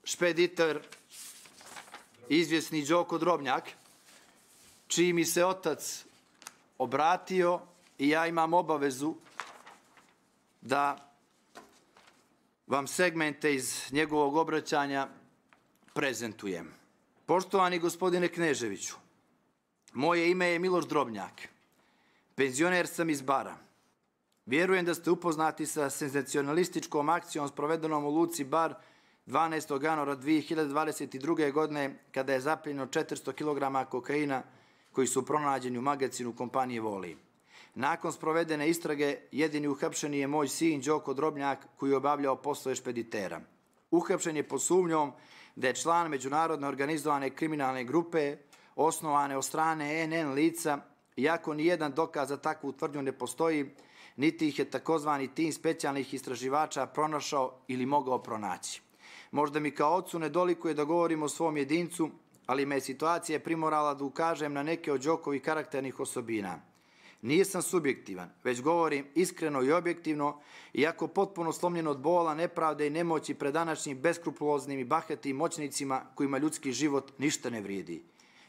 špediter, izvjesni Đoko Drobnjak, čiji mi se otac obratio i ja imam obavezu da vam segmente iz njegovog obraćanja prezentujem. Poštovani gospodine Kneževiću, moje ime je Miloš Drobnjak. Penzioner sam iz Bara. Vjerujem da ste upoznati sa senzacionalističkom akcijom sprovedenom u luci Bar 12. januara 2022. godine kada je zaplijenjeno 400 kg kokaina koji su pronađeni u magazinu kompanije Voli. Nakon sprovedene istrage, jedini uhapšeni je moj sin Đoko Drobnjak koji je obavljao poslove špeditera. Uhapšen je pod sumnjom da je član međunarodne organizovane kriminalne grupe osnovane od strane NN lica, iako nijedan dokaz za takvu tvrdnju ne postoji, niti ih je takozvani tim specijalnih istraživača pronašao ili mogao pronaći. Možda mi kao ocu ne dolikuje da govorim o svom jedincu, ali me situacija primorala da ukažem na neke od Đokovih karakternih osobina. Nisam subjektivan, već govorim iskreno i objektivno, iako potpuno slomljen od bola, nepravde i nemoći pred današnjim beskrupuloznim i bahatim moćnicima kojima ljudski život ništa ne vrijedi.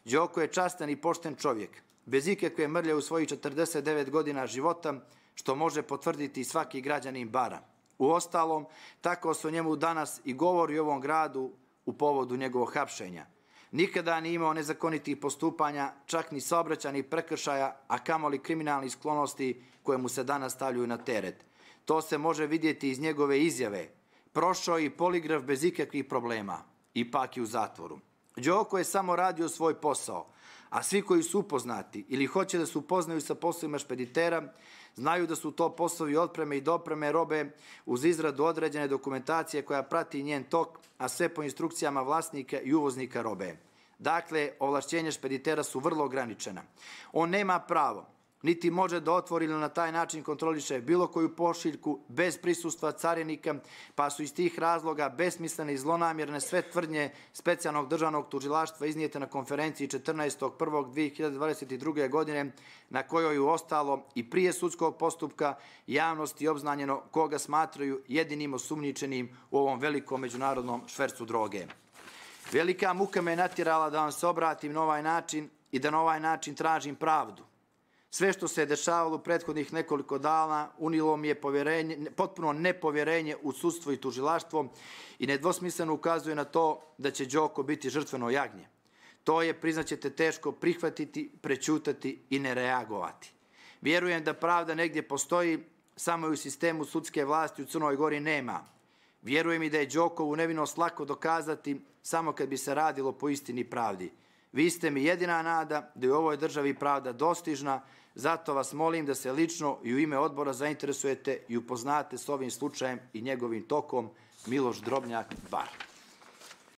Đoko je častan i pošten čovjek, bez ikakve mrlje u svojih 49 godina života, što može potvrditi svaki građanin Bara. Uostalom, tako se o njemu danas i govori u ovom gradu u povodu njegovog hapšenja. Nikada nije imao nezakonitih postupanja, čak ni saobraćajnih prekršaja, a kamoli kriminalnih sklonosti koje mu se danas stavljaju na teret. To se može vidjeti iz njegove izjave. Prošao i poligraf bez ikakvih problema. Ipak je u zatvoru. Đoko je samo radio svoj posao, a svi koji su upoznati ili hoće da se upoznaju sa poslovima špeditera, znaju da su to poslovi otpreme i dopreme robe uz izradu određene dokumentacije koja prati njen tok, a sve po instrukcijama vlasnika i uvoznika robe. Dakle, ovlašćenja špeditera su vrlo ograničena. On nema pravo, niti može da otvori ili na taj način kontroliše bilo koju pošiljku bez prisustva carinika, pa su iz tih razloga besmislene i zlonamjerne sve tvrdnje specijalnog državnog tužilaštva iznijete na konferenciji 14.1.2022. godine, na kojoj je ostalo i prije sudskog postupka javnosti obznanjeno koga smatraju jedinim osumnjičenim u ovom velikom međunarodnom švercu droge. Velika muka me je natjerala da vam se obratim na ovaj način i da na ovaj način tražim pravdu. Sve što se je dešavalo u prethodnih nekoliko dana unilo mi je potpuno nepovjerenje u sudstvo i tužilaštvo i nedvosmisleno ukazuje na to da će Đoko biti žrtveno jagnje. To je, priznaćete, teško prihvatiti, prećutati i ne reagovati. Vjerujem da pravda negdje postoji, samo je u sistemu sudske vlasti u Crnoj Gori nema. Vjerujem i da je Đokovu nevinost lako dokazati samo kad bi se radilo po istini pravdi. Vi ste mi jedina nada da je u ovoj državi pravda dostižna, zato vas molim da se lično i u ime odbora zainteresujete i upoznate s ovim slučajem i njegovim tokom. Miloš Drobnjak, Bar.